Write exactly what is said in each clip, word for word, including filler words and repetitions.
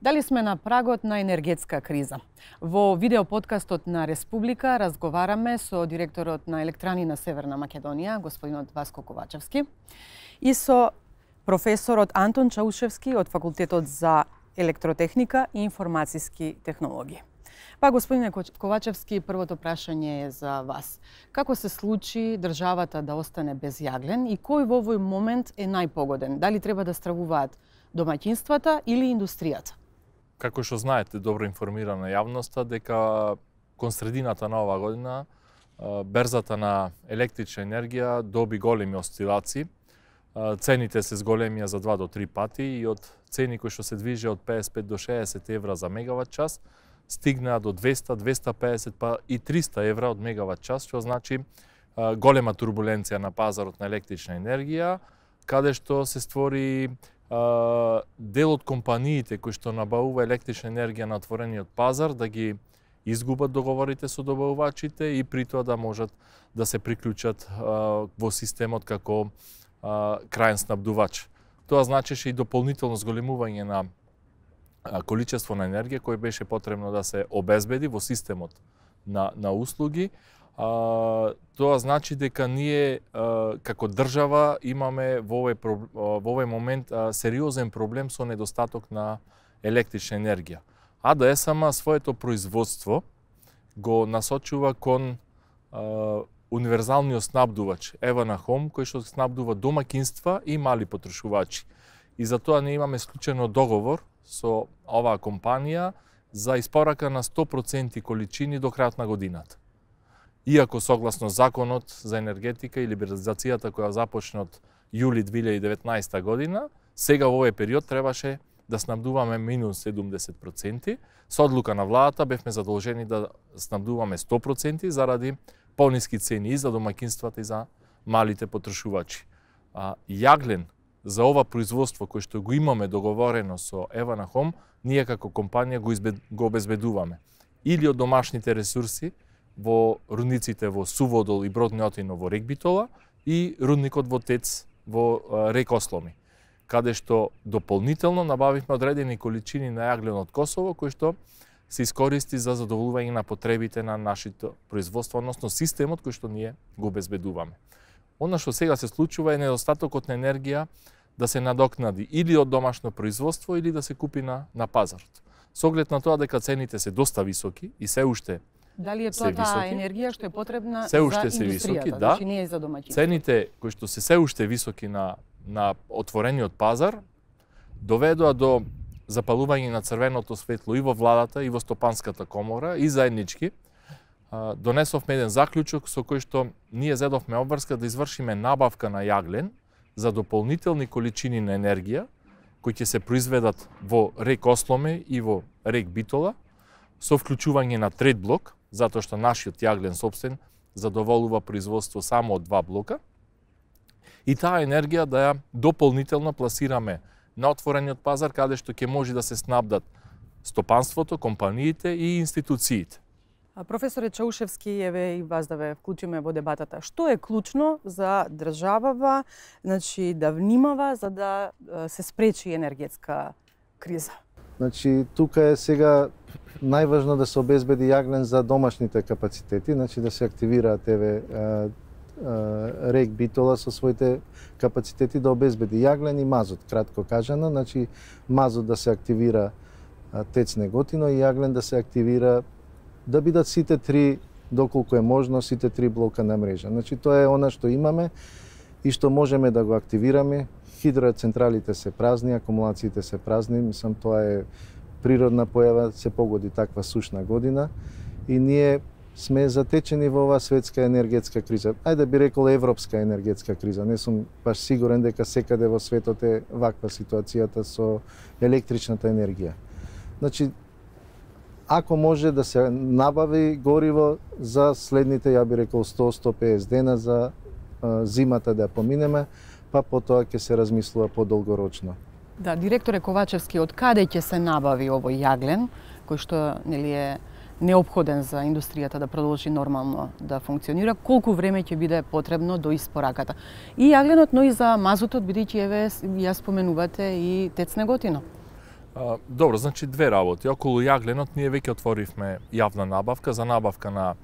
Дали сме на прагот на енергетска криза? Во видеоподкастот на Республика разговараме со директорот на Електрани на Северна Македонија, господинот Васко Ковачевски, и со професорот Антон Чаушевски од Факултетот за електротехника и информацијски технологии. Па, господине Ковачевски, првото прашање е за вас. Како се случи државата да остане без јаглен и кој во овој момент е најпогоден? Дали треба да стравуваат домаќинствата или индустријата? Како што знаете, добро информирана јавноста, дека кон средината на оваа година берзата на електрична енергија доби големи осцилации. Цените се зголемија за два до три пати и од цени кои што се движи од педесет и пет до шеесет евра за мегават час, стигнаа до двеста, двеста и педесет па и триста евра од мегават час, што значи голема турбуленција на пазарот на електрична енергија, каде што се створи дел од компаниите кои што набавува електрична енергија на отворениот пазар да ги изгубат договорите со добавувачите и при тоа да можат да се приклучат во системот како крајен снабдувач. Тоа значеше и дополнително зголемување на количество на енергија кој беше потребно да се обезбеди во системот на, на услуги. А, тоа значи дека ние а, како држава имаме во овој, во овој момент а, сериозен проблем со недостаток на електрична енергија. А да е сама своето производство го насочува кон а, универзалниот снабдувач Евана Хом, кој што снабдува домаќинства и мали потрошувачи. И затоа ние имаме склучено договор со оваа компанија за испорака на сто проценти количини до крајот на годината. Иако согласно законот за енергетика и либерализацијата која започна од јули две илјади и деветнаесета година, сега во овој период требаше да снабдуваме минус седумдесет проценти. Со одлука на владата бевме задолжени да снабдуваме сто проценти заради пониски цени и за домаќинствата и за малите потрошувачи. А јаглен за ова производство кој што го имаме договорено со Евана Хом, ние како компанија го, избед, го обезбедуваме или од домашните ресурси во рудниците во Суводол и Бродниотино во рек Битола и рудникот во Тец во рек Осломи, каде што дополнително набавивме одредени количини на јаглен од Косово кој што се искористи за задоволување на потребите на нашето производство, односно системот кој што ние го обезбедуваме. Она што сега се случува е недостатокот на енергија да се надокнади или од домашно производство или да се купи на, на пазарот. Со оглед на тоа дека цените се доста високи и се уште Дали е тоа таа енергија што е потребна се уште за се високи, индустријата, да. значи не е за домаќинството? Цените кои што се се уште високи на на отворениот пазар доведоа до запалување на црвеното светло и во владата и во стопанската комора и заеднички. Донесовме еден заклучок со кој што ние зедовме обврска да извршиме набавка на јаглен за дополнителни количини на енергија кои ќе се произведат во рек Осломе и во рек Битола со вклучување на трет блок, затоа што нашиот јаглен сопствен задоволува производство само од два блока. И таа енергија да ја дополнително пласираме на отворениот пазар, каде што ќе може да се снабдат стопанството, компаниите и институциите. Професоре Чаушевски, еве и вас да ве вклучиме во дебатата. Што е клучно за државава, значи да внимава за да се спречи енергетска криза? Значи тука е сега најважно да се обезбеди јаглен за домашните капацитети, значи да се активираат еве рек Битола со своите капацитети да обезбеди јаглен и мазот, кратко кажано, значи мазот да се активира Тец Неготино и јаглен да се активира да бидат сите три, доколку е можно, сите три блока на мрежа. Значи тоа е она што имаме и што можеме да го активираме. Хидроцентралите се празни, акумулациите се празни, мислам тоа е природна појава, се погоди таква сушна година и ние сме затечени во оваа светска енергетска криза. Ајде би рекол европска енергетска криза. Не сум баш сигурен дека секаде во светот е ваква ситуацијата со електричната енергија. Значи, ако може да се набави гориво за следните, ја би рекол, сто до сто и песет дена за а, зимата да ја поминеме, па потоа ќе се размислува подолгорочно. Да, директоре Ковачевски, од каде ќе се набави овој јаглен, кој што нели е неопходен за индустријата да продолжи нормално да функционира, колку време ќе биде потребно до испораката? И јагленот, но и за мазутот, бидејќи еве ја споменувате и Тец Неготино. А, добро, значи две работи. Околу јагленот ние веќе отворивме јавна набавка за набавка на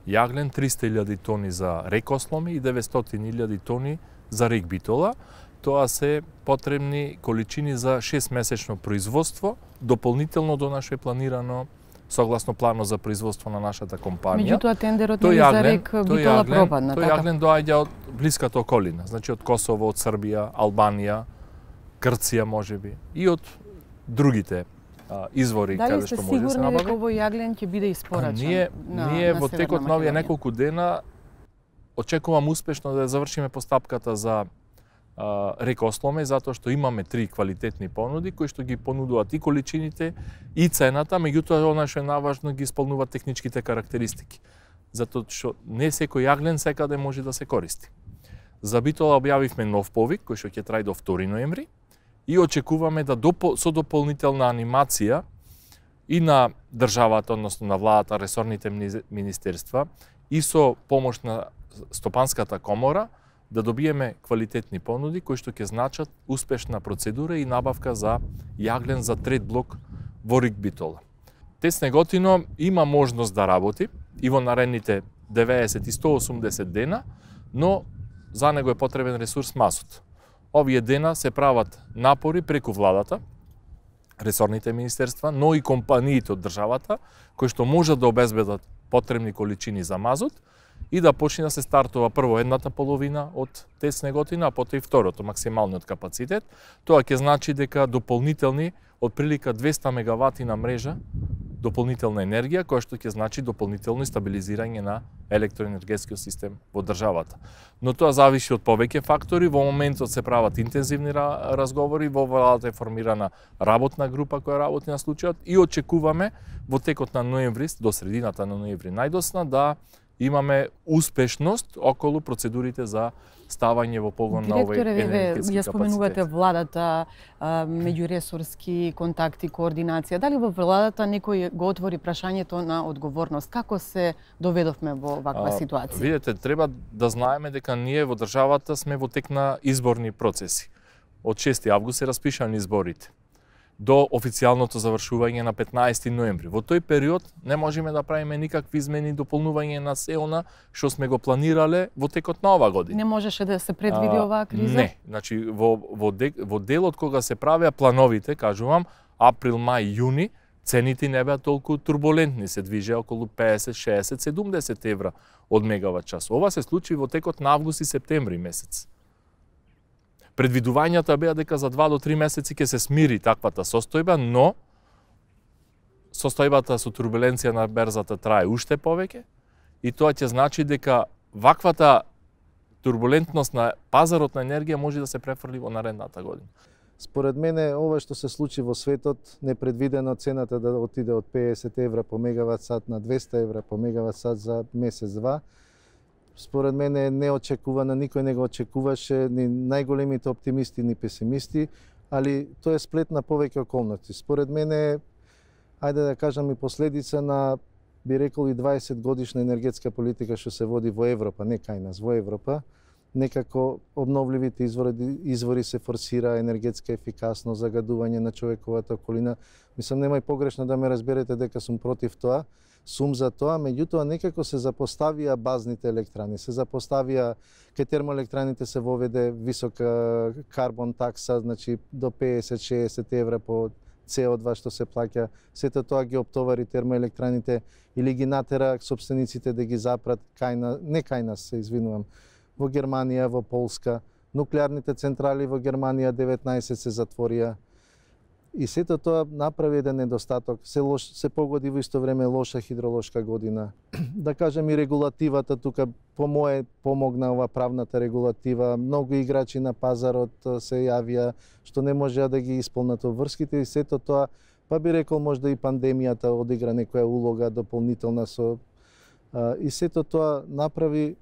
јаглен, триста илјади тони за рекосломи и деветстотини илјади тони за рек битола. Тоа се потребни количини за шестмесечно производство, дополнително до наше планирано согласно планот за производство на нашата компанија. Меѓутоа тендерот нели за рек битола пропадна, тој така? јаглен доаѓа од блиската околина, значи од Косово, од Србија, Албанија, Грција можеби и од другите а, извори Дали каде сте што може да се сигурни дека набави. овој јаглен ќе биде испорачан? Ние на, ние на во Северна текот на овие Македонија? неколку дена очекувам успешно да завршиме постапката за а, рекосломе, затоа што имаме три квалитетни понуди кои што ги понудуваат и количините и цената, меѓутоа она што е наважно ги исполнуваат техничките карактеристики. Затоа што не секој јаглен секаде може да се користи. За битола објавивме нов повик кој што ќе трај до втори ноември и очекуваме да допол, со дополнителна анимација и на државата, односно на владата, ресорните министерства и со помош на Стопанската комора да добиеме квалитетни понуди кои што ќе значат успешна процедура и набавка за јаглен за трет блок во рек битола. ТЕЦ Неготино има можност да работи и во наредните деветдесет и сто и осумдесет дена, но за него е потребен ресурс мазут. Овие дена се прават напори преку владата, ресорните министерства, но и компаниите од државата, кои што можат да обезбедат потребни количини за мазут и да почне да се стартува прво едната половина од ТЕЦ Неготино, а потоа и второто, максималниот капацитет. Тоа ќе значи дека дополнителни од прилика двеста мегавати на мрежа дополнителна енергија, која што ќе значи дополнително стабилизирање на електроенергетскиот систем во државата. Но тоа зависи од повеќе фактори. Во моментот се прават интензивни разговори, во владата е формирана работна група која работи на случајот и очекуваме во текот на ноември, до средината на ноември најдосна, да имаме успешност околу процедурите за ставање во погон на овој енергетски ја споменувате капацитет. владата, меѓуресорски контакти, координација. Дали во владата некој го отвори прашањето на одговорност? Како се доведовме во ваква А, ситуација? Видете, треба да знаеме дека ние во државата сме во тек на изборни процеси. Од шести август се распишани изборите до официјалното завршување на петнаесети ноември. Во тој период не можеме да правиме никакви измени и дополнување на се она што сме го планирале во текот на ова година. Не можеше да се предвиди оваа криза? Не, значи во во, де, во делот кога се правеа плановите, кажувам, април, мај, јуни, цените не беа толку турбулентни, се движеа околу педесет, шеесет, седумдесет евра од мегават час. Ова се случи во текот на август и септември месец. Предвидувањата беа дека за два до три месеци ќе се смири таквата состојба, но состојбата со турбуленција на берзата трае уште повеќе и тоа ќе значи дека ваквата турбулентност на пазарот на енергија може да се префрли во наредната година. Според мене, ова што се случи во светот, непредвидено цената да отиде од педесет евра по мегават сат на двеста евра по мегават сат за месец-два, според мене е неочекувана, никој не го очекуваше, ни најголемите оптимисти, ни песимисти, али тоа е сплет на повеќе околности. Според мене, ајде да кажам и последица на, би рекол, и дваесет годишна енергетска политика што се води во Европа, не кај нас, во Европа. Некако обновливите извори, извори се форсира, енергетска ефикасност, загадување на човековата околина. Мислам, нема и погрешно да ме разберете дека сум против тоа, сум за тоа, меѓутоа некако се запоставија базните електрани, се запоставија, кај термоелектраните се воведе висока карбон такса, значи до педесет до шеесет евра по С О два што се плаќа, сето тоа ги оптовари термоелектраните или ги натера собствениците да ги запрат кај на, не кај нас, се извинувам, во Германија, во Полска, нуклеарните централи во Германија деветнаесет се затворија. И сето тоа направи еден недостаток, се, лош, се погоди во исто време лоша хидролошка година. Да кажем и регулативата тука по мое помогна ова правната регулатива, многу играчи на пазарот се јавија што не можеа да ги исполнат обврските и сето тоа, па би рекол можда и пандемијата одигра некоја улога дополнителна со и сето тоа направи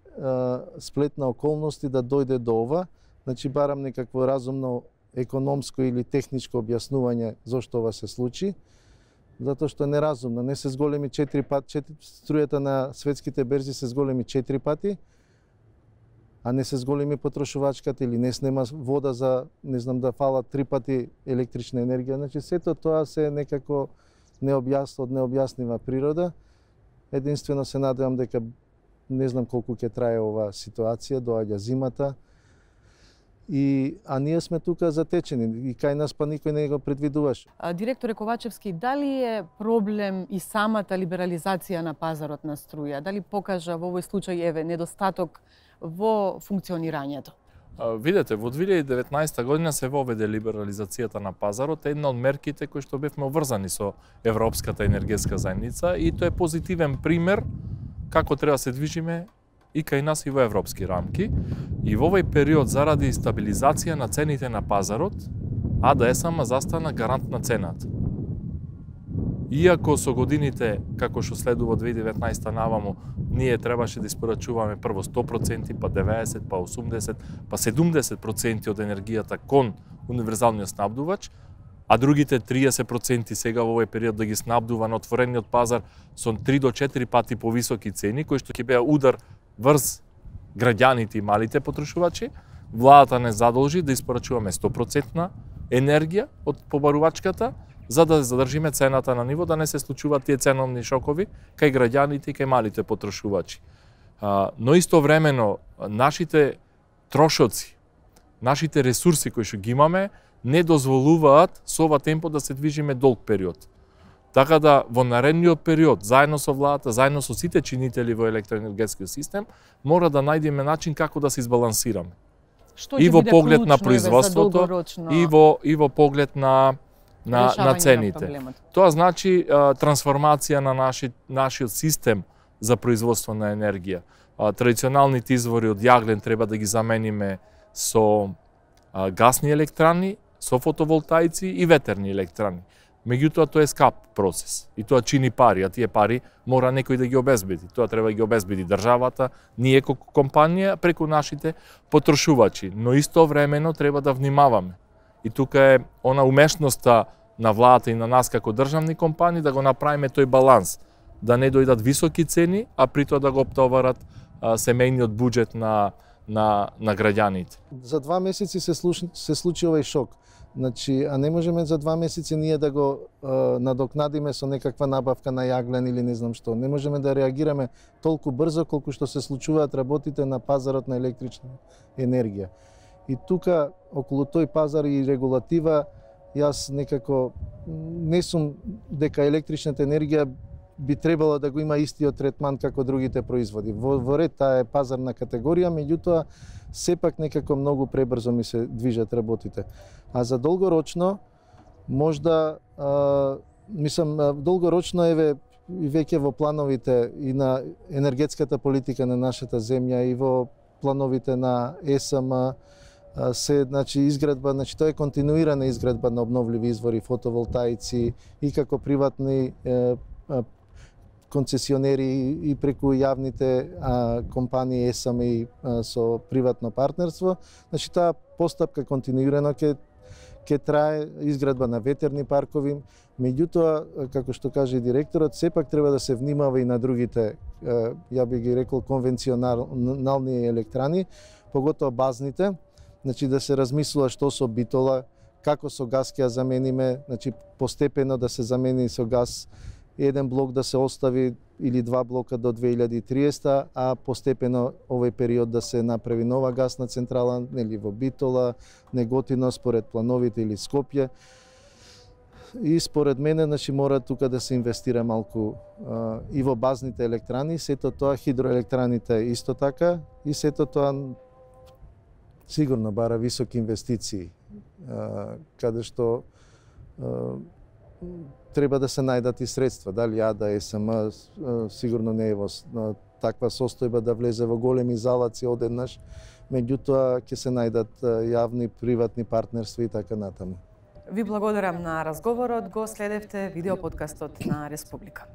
сплет на околности да дојде до ова, значи барам некакво разумно економско или техничко објаснување зошто ова се случи, затоа што е неразумно, не се зголеми четири пати, четири, струјата на светските берзи се зголеми четири пати, а не се зголеми потрошувачката или не снема вода за, не знам, да фалат три пати електрична енергија. Значи, сето тоа се некако необјасно, од необјаснива природа. Единствено се надевам дека не знам колку ќе трае ова ситуација, доаѓа зимата. И, а ние сме тука затечени и кај нас па никој не го предвидуваше. Директоре Ковачевски, дали е проблем и самата либерализација на пазарот на струја? Дали покажа во овој случај еве недостаток во функционирањето? Видете, во две илјади и деветнаесета година се воведе либерализацијата на пазарот, една од мерките кои што бевме обврзани со Европската енергетска заедница, и тоа е позитивен пример како треба се движиме и кај нас и во европски рамки. И во овој период, заради стабилизација на цените на пазарот, А Д Е С М застана гарант на цената. Иако со годините, како што следува две илјади и деветнаесета наваму, ние требаше да испорачуваме прво сто проценти, па деветдесет, па осумдесет, па седумдесет проценти од енергијата кон универзалниот снабдувач, а другите триесет проценти сега во овој период да ги снабдува на отворениот пазар со три до четири пати повисоки цени, кои што ќе беа удар врз граѓаните и малите потрошувачи. Владата не задолжи да испорачуваме сто проценти енергија од побарувачката, за да задржиме цената на ниво, да не се случуваат тие ценовни шокови кај граѓаните и кај малите потрошувачи. Но истовремено, нашите трошоци, нашите ресурси кои што ги имаме, не дозволуваат со ова темпо да се движиме долг период. Така да во наредниот период, заедно со владата, заедно со сите чинители во електроенергетскиот систем, мора да најдеме начин како да се избалансираме. Што и во поглед на клучно, производството, и во и во поглед на на на цените. На Тоа значи а, трансформација на наши, нашиот систем за производство на енергија. А, традиционалните извори од јаглен треба да ги замениме со а, гасни електрани, со фотоволтаици и ветерни електрани. Меѓутоа, тоа е скап процес и тоа чини пари, а тие пари мора некој да ги обезбеди. Тоа треба да ги обезбеди државата, ние како компанија, преку нашите потрошувачи. Но истовремено треба да внимаваме. И тука е она умешноста на владата и на нас како државни компании да го направиме тој баланс, да не дојдат високи цени, а при тоа да го оптоварат а, семејниот буџет на на на граѓаните. За два месеци се, слуш... се случи овој шок. Значи, а не можеме за два месеци ние да го е, надокнадиме со некаква набавка на јаглен или не знам што. Не можеме да реагираме толку брзо колку што се случуваат работите на пазарот на електрична енергија. И тука, околу тој пазар и регулатива, јас некако не сум дека електричната енергија би требало да го има истиот третман како другите производи. Во, во ред, таа е пазарна категорија, меѓутоа сепак некако многу пребрзо ми се движат работите. А за долгорочно, можда, а, мислам, долгорочно еве и веќе во плановите и на енергетската политика на нашата земја и во плановите на Е С М се, значи, изградба, значи тоа е континуирана изградба на обновливи извори, фотоволтаици и како приватни е, концесионери и преку јавните а, компании Е С М и а, со приватно партнерство. Значи таа постапка континуирано ќе ќе трае, изградба на ветерни паркови. Меѓутоа, како што каже и директорот, сепак треба да се внимава и на другите, ја би ги рекол, конвенционални електрани, поготоа базните. Значи да се размислува што со битола, како со газ ќе ја замениме, значи постепено да се замени со газ, еден блок да се остави или два блока до две илјади и триесета, а постепено овој период да се направи нова гасна централа, нели во Битола, Неготино според плановите или Скопје. И според мене, значи, мора тука да се инвестира малку а, и во базните електрани, сето тоа хидроелектраните исто така, и сето тоа сигурно бара високи инвестиции, а, каде што а, треба да се најдат и средства. Дали А Д Е С М сигурно не е во таква состојба да влезе во големи залаци одеднаш, меѓутоа ќе се најдат јавни, приватни партнерства и така натаму. Ви благодарам на разговорот, го следевте видеоподкастот на Республика.